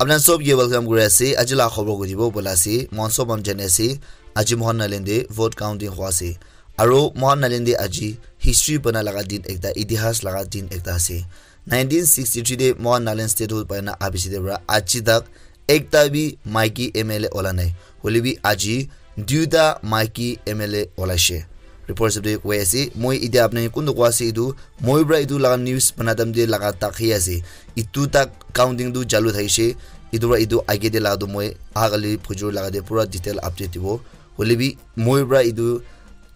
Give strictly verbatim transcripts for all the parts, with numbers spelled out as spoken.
Apna sob ke welcome kuri ase. Aji la khobor kuri dibo bola ase. Mohan sob ham jani ase. Aji Mohan Nagaland te vote counting hua ase. Aro Mohan Nagaland te aji history bana laga din ekta, itihas laga din ekta ase. Nineteen sixty-three te Mohan Nagaland statehood paina abisi te pra aji tak ekta bi maiki M L A ola nai. Hoile bi aji duita maiki M L A olaishe. Report sabde koi ase, moi itia apni kuntu koi ase itu, moi pra itu laga news bana time te laga tak hi ase. Itu tak counting tu jalu thaishe, itu pra itu age te laga tu moi agali phujur laga te pura detail update dibo. Hoile bi moi pra itu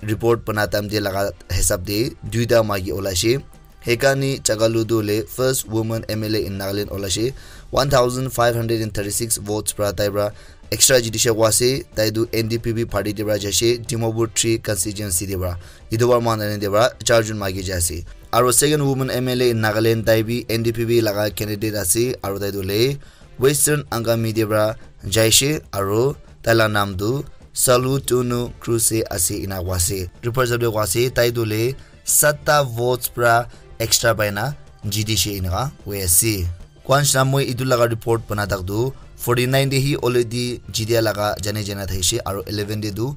report bana time te laga hisab te duita maiki olaishe. Hekani Chagalu tu le first woman M L A in Nagaland olaishe. One thousand five hundred and thirty-six votes pra tai pra extra jidishe koi ase. Tai tu N D P P party te pra jaishe, Dimapur three constituency te pra. Itu pra Mohan Nagaland te pra char jun maiki jaise. Aro second woman M L A in Nagaland, tai bi N D P P laga candidate ase. Aro tai tu le Western Angami te pra jaishe. Aro tai la nam tu Salu Tunu Cruise ase ina koi ase. Report sabde koi ase, tai tu le satta votes pra extra paina jidishe ina koi ase. Kwan shina moi itu laga report bana tak tu forty-nine te hi already jidia laga jane jana thaishe, aro eleven te tu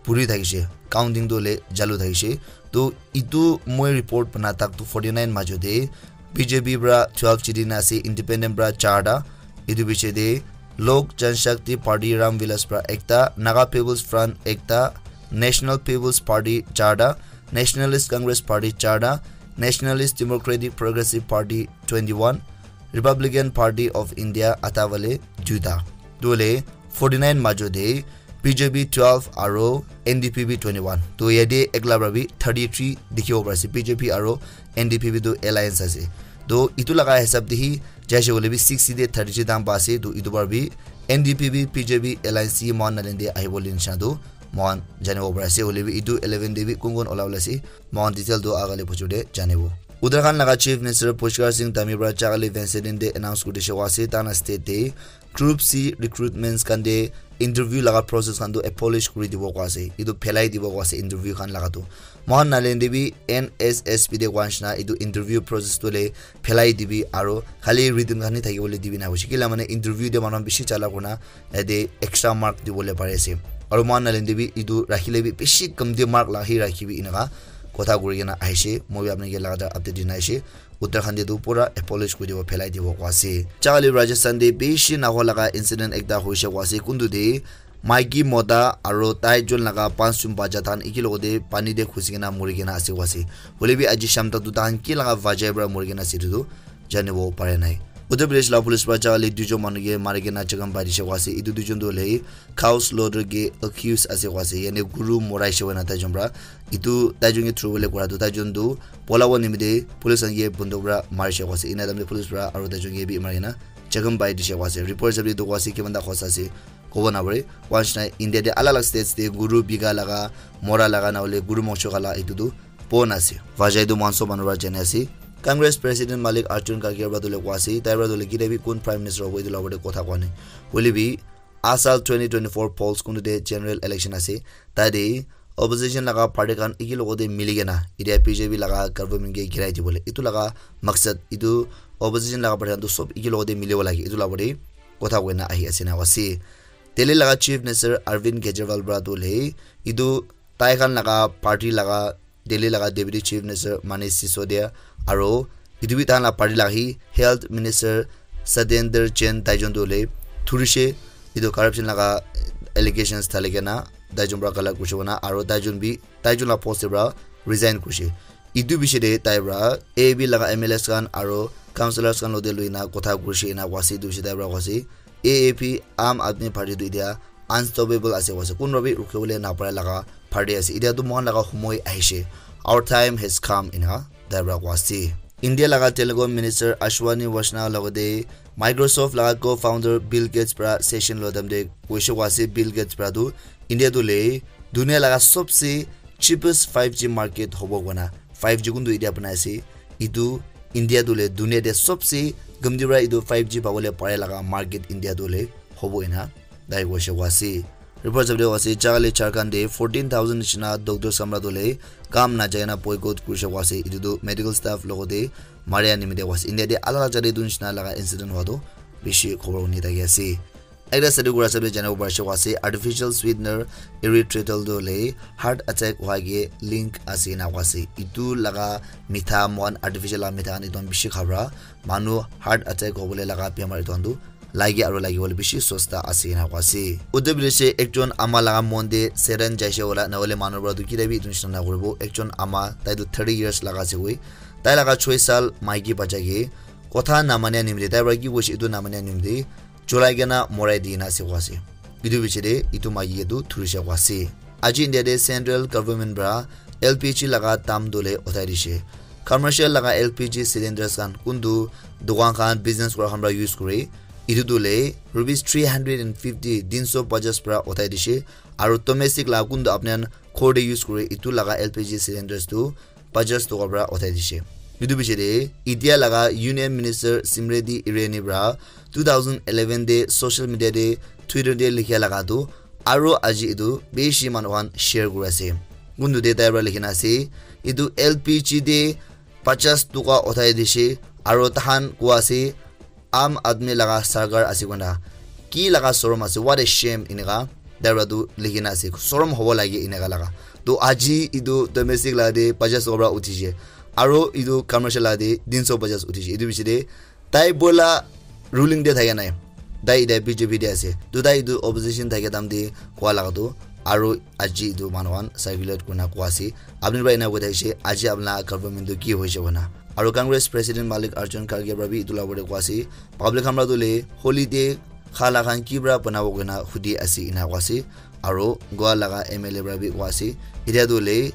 puri thaishe, counting tu le jalu thaishe. To itu moi report bana tak tu forty-nine majo te B J P pra twelve jidi na ase, independent pra charta, itu biche te Lok Janshakti Party Ram Vilas pra ekta, Naga People's Front ekta, National People's Party charta, Nationalist Congress Party charta, Nationalist Democratic Progressive Party twenty-one, Republican Party of India atavale duita. Dole forty-nine majo de B J P twelve aro N D P P twenty-one. To yate ekla pra bi thirty-three dikhibo pari ase. B J P aro N D P P tu alliance ase. To itu laga hisab de hi jaise hoile bi sixty de thirty-three dam pa ase. To itu pra bi N D P P B J P alliance hi mohan nalin de ahibo le nisha tu mohan janibo pari ase. Hoile bi itu eleven de bi kun kun ola ola ase. Mohan detail tu agale bujor de janibo. Uttarakhand laga Chief Minister Pushkar Singh Dhami pra chakali Wednesday din de announce kuri dishe koi ase, tana state de Group C recruitments khan de interview laga process khan tu abolish kuri dibo koi ase, itu phelai dibo koi ase interview khan laga tu. Mohan nalin de bi N S S P de koi nishina itu interview process tu le phelai dibi aro khali written khan hi thaki bole dibi na hoise. Kila mane interview de manu bishi chala kurna yate extra mark dibole pari ase. Aro mohan nalin de bi itu rakhile bi bishi kamti mark la hi rakhibi inaka kotha kuri kena ahishe. Moi bi apni ke lagatar update dina ahishe. Uttarakhand de tu pura abolish kuri dibo, phelai dibo koi ase. Chakali Rajasthan de bishi nahoi laga incident ekta hoishe koi ase. Kuntu de maiki mota aro tai jon laga panch jon bacha than eki logote pani de khusi kena muri kena ase koi ase. Hoile bi aji sham tak tu tahan ki laga vajai pra muri kena ase itu tu janibo pare nai. Uttar Pradesh la police pra chakali duijon manu ke mari kena chakam pai dishe koi ase. Itu duijon tu hoile cow slaughter ke accused ase koi ase. Yani guru morai she koina taijon pra. Itu taijon ke through bole kora tu taijon tu pola bo nimite police khan ke bunduk pra mari she koi ase. Ina time te police pra aro taijon ke bi mari kena chakam pai dishe koi ase. Report hisab te tu koi ase kiman ta hosa ase kobo na pare. Koi nishina India te alag alag states te guru bika laga, mora laga na hoile guru mongsho khala itu tu bon ase. Vajai tu mohan sob manu pra jani ase. Congress President Mallikarjun Kharge pra tu le koi ase, tai pra tu le kile bi kun Prime Minister hobo itu la opor te kotha koa nai. Hoile bi asal twenty twenty-four polls kuntu de general election ase. Tai de opposition laga party khan eki logote mili kena itia B J P laga government ke girai dibole. Itu laga maksad itu opposition laga party khan tu sob eki logote milibo lage. Itu la opor te kotha koina ahi ase na ase. Delhi laga Chief Minister Arvind Kejriwal pra tu le itu tai khan laga party laga Delhi laga Deputy Chief Minister Manish Sisodia aro itu bi tahan la party laga hi Health Minister Satyendra Jain taijon tu le thurishe itu corruption laga allegations thali kena taijon pra gala kurishe koina aro taijon bi taijon la post te pra resign kurishe. Itu biche te tai pra A A P laga M L As khan aro councillors khan logote loina kotha kurishe ena koi ase. Itu biche tai pra koi ase A A P, Aam Aadmi Party tu itia unstoppable ase koi ase. Kunba bi rukhibole napare laga party ase. Itia tu mohan laga homoi ahishe. Our time has come ena tai pra koi ase. India laga Telecom Minister Ashwani Vaishnaw logote Microsoft laga co-founder Bill Gates pra session lo time te koishe koi ase Bill Gates pra tu India tu le dunia laga sobse cheapest five G market hobo koina. Five G kuntu itia banai ase. Itu India tu le dunia te sobse gamdi pra itu five G pabole pare laga market India tu le hobo ena tai koishe koi ase. Report sabde koi ase chakali Jharkhand de fourteen thousand nishina doctor samra tu le kam na jaina boycott kurishe koi ase. Itu tu medical staff logote maria nimite koi ase. India de alag alag jate itu nishina laga incident hua tu bishi khobor huni thaki ase. Ekta study kura sabi janibo parishe koa ase, artificial sweetener erythritol tu hoile heart attack hua ke link ase ena koa ase. Etu laga mitha moikhan artificial laga mitha khan etu khan bishi kha para manu heart attack hobole laga bemar etu khan tu lage aru lagibole bishi sosta ase ena koa ase. Uttar Pradesh te ekjon ama laga mon te Satan jaise wala nahole manu para tu kile bi etu nishina nakuribo. Ekjon ama tai tu thirty years laga ase koi. Tai laga choi sal maiki bacha ke kotha namania nimite tai para ki koise etu namania nimite cholai kena morai di na ase koa ase. Etu piche te etu maiki ke tu thurishe koa ase. Aji India te central government para L P G laga dam tu le uthai dishe. Commercial laga L P G cylinders khan kuntu dukan khan business kura khan para use kure. Etu tu le rupees three hundred and fifty, tinso pajas para uthai dishe. Aru domestic laga kuntu apni khan ghor te use kure etu laga L P G cylinders tu pajas toka para uthai dishe. Etu piche te India laga Union Minister Smriti Irani para two thousand eleven te social media te Twitter te likhia laga tu aru aji etu bishi manu khan share kuri ase. Kuntu te tai para likhina ase etu L P G te pajas toka uthai dishe aru tahan koa ase Aam Aadmi laga sarkar ase koina ki laga sorom ase, what a shame, eneka tai para tu likhina ase, sorom hobo lage eneka laga. To aji etu domestic laga te pajas toka para uthishe aru etu commercial laga te tinso pajas uthishe. Etu piche te tai bola ruling te thaka nai, tai eta B J P te ase. To tai etu opposition thaka time te koa laga tu aru aji etu manu khan circulate kurina koa ase, apni para ena koi thakishe, aji apni laga government tu ki hoishe koina. Aru Congress President Mallikarjun Kharge para bi etu laga opor te koa ase, public khan para tu le holiday kha la khan ki para banabo koina hudi ase ena koa ase. Aru Goa laga M L A para bi koa ase, etia tu le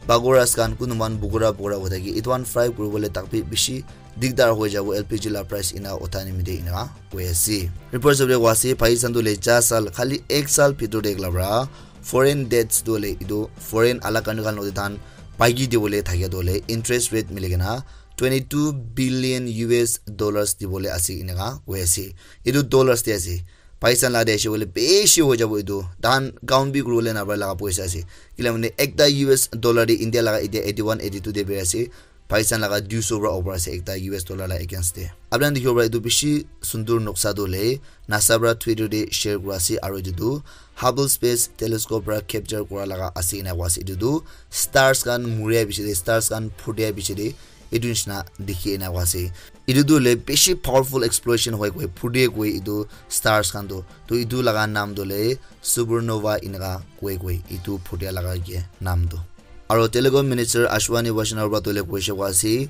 pakoras khan kunuman bukura bukura hoi thaki etu khan fry kuribole tak bi bishi digdar hoi jabo L P G la price ena utha nimite ena koi ase. Reports of the koa ase Pakistan tu le ja sal khali ek sal bhitor te ekla para foreign debts tu hoile etu foreign alak country khan logote tahan paiki dibole thakia tu hoile interest rate mili kena twenty two billion U S dollars dibole ase eneka koi ase. Etu dollars te ase. Paisa la de ase koile bishi hoi jabo etu. Tahan count bi kuribole napare laga poisa ase. Kila mane ekta U S dollar te India laga etia eighty one, eighty two te beri ase. Paisa laga dui so para opor ase ekta U S dollar la against te. Apni khan dikhibo para etu bishi sundur noksa tu hoile NASA para Twitter te share kura ase aru etu tu Hubble Space Telescope para capture kura laga ase ena koa ase. Etu tu stars khan muria piche te, stars khan phutia piche te etu nishina dikhi ena koa ase. Etu tu hoile bishi powerful explosion hoi koi phutia koi etu stars khan tu. To etu laga naam tu hoile supernova eneka koi koi etu phutia laga ke naam tu. Aru Telecom Minister Ashwani Vaishnaw para tu hoile koise koa ase,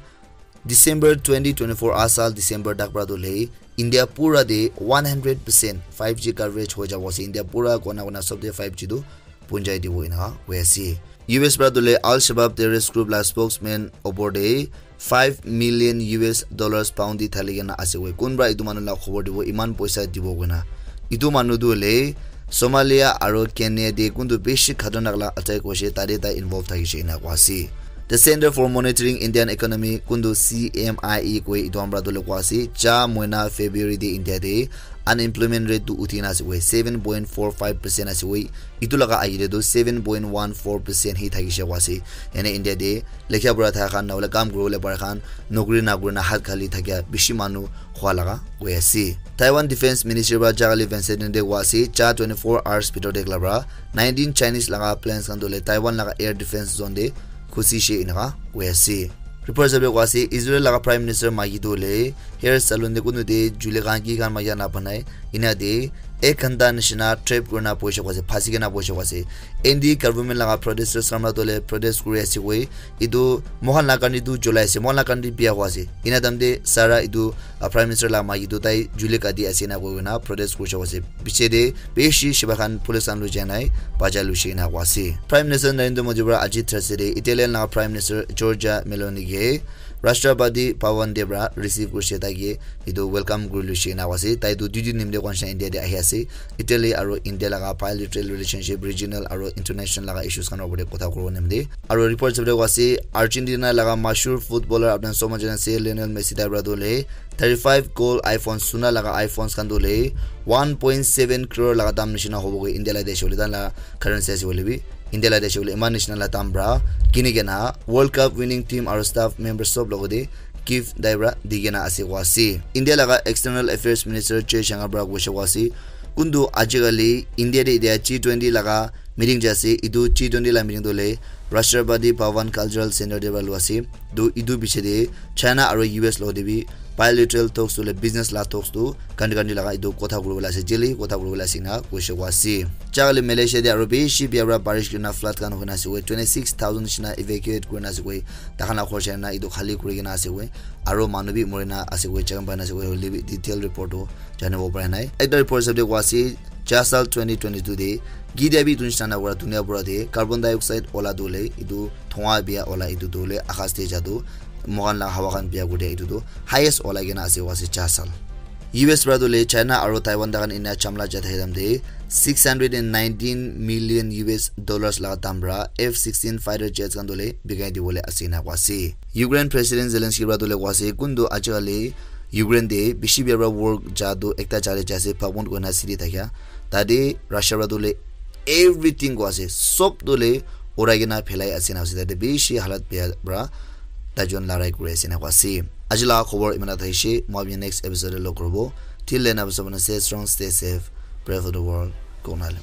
December twenty twenty-four, asal December tak para tu hoile India pura te one hundred percent five G coverage hoi jabo ase. India pura kona kona sob te five G tu punjai dibo eneka koi ase. U S para tu hoile Al Shabaab terrorist group la spokesman opor te five million U S dollars bounty thali kena ase koi. Kun para etu manu la khobor dibo, iman poisa dibo koina. Etu manu tu hoile Somalia aru Kenya te kuntu bishi khatarnak la attack hoise, tate tai involve thakishe ena koa ase. The Center for Monitoring Indian Economy, kuntu C M I E koi, etu khan para tu hoile koa ase, ja moina February te India te unemployment rate tu uthi na ase koi, seven point four five percent ase koi. Etu laga age te tu seven point one four percent hi thakishe koa ase. Ene India te likha pura thaka khan, na hoile kam kuribole para khan, nokri na kurina hat khali thakia bishi manu hua laga koi ase. Taiwan Defense Ministry para jakali Wednesday din te koa ase, ja twenty-four hours bhitor te ekla para nineteen Chinese laga planes khan tu hoile Taiwan laga air defense zone te khusi she eneka koi ase. Report sabi koa ase, Israel laga Prime Minister maiki tu hoile hair salon te kunu te jule khan ki khan maiki khan na banai, ena te ek ghanta nishina trap kurina boishe koa ase, phasi kena boishe koa ase. N D government laga protesters khan para tu hoile protest kuri ase koi, etu moikhan laga karne tu julai ase, moikhan laga karne bia hua ase. Ena time te sara etu, ah, Prime Minister laga maiki tu tai juli kati ase na koi kena protest kurishe ase. Piche te bishi shiba khan police khan lui jai nai bajai luishe ena koi ase. Prime Minister Narendra Modi para aji Thursday te Italian laga Prime Minister Giorgia Meloni ke Rashtrapati Bhavan te para receive kurishe, tai ke etu welcome kuri luishe ena koi ase. Tai tu dui din nimite koi nishina India te ahi ase. Italy aru India laga bilateral relationship, regional aru international laga issues khan opor te kotha kuribo nimite. Aru report sabole koi ase, Argentina laga mashhur footballer apni khan sob manu jana ase, Lionel Messi, tai para tu hoile thirty five gold iPhone, suna laga iPhones khan tu hoile one point seven crore laga dam nishina hobo koi India laga desh hoile, tai laga currency ase hoile bi. India laga desh hoile eman nishina laga dam para kini kena World Cup winning team aru staff members sob logote Kyiv tai para di kena ase koa ase. India laga External Affairs Minister Jaishankar para koise koa ase, kuntu ajikali India te etia G twenty laga meeting jai ase, etu G twenty la meeting tu hoile Rashtrapati Bhavan Cultural Center te para lua ase. Tu etu piche te China aru U S lo te bi bilateral talks tu hoile business la talks tu country country laga etu kotha kuri bole ase, jeli kotha kuri bole ase na koise koa ase. Chakali Malaysia te aru bishi bia para barish kuri na flood khan hoi na ase koi, twenty six thousand nishina evacuate kuri na ase koi, takhan la khor chai na etu khali kuri kena ase koi, aru manu bi mori na ase koi, chakam pai na ase koi, hoile bi detail report tu janibo para nai. Ekta report hisab te koa ase, Chasal twenty twenty-two te, gidia bi etu nishina na kura dunia pura te, carbon dioxide ola tu hoile, etu thonga bia ola etu tu hoile, akas te ja tu, mohan la hawa khan bia kuri dia etu tu, highest ola kena ase koa ase Chasal. U S para tu hoile, China aru Taiwan takhan ena chamla ja thai dam te, six hundred and nineteen million U S dollars laga dam para F sixteen fighter jets khan tu hoile, bikai di bole ase na koa ase. Ukraine President Zelensky para tu hoile koa ase, kuntu ajikali Ukraine te bishi bia para work ja tu ekta ja te ja ase, Bakhmut koina city thakya. Tate Russia para tu hoile everything koa ase, sob tu hoile urai kena phelai ase na ase, tate bishi halat bia para taijon larai kuri ase na koa ase. Aji laga khobor iman ta thaishe, moi apni next episode te log koribo. Till then, apni sabon stay strong, stay safe, pray for the world. Konale.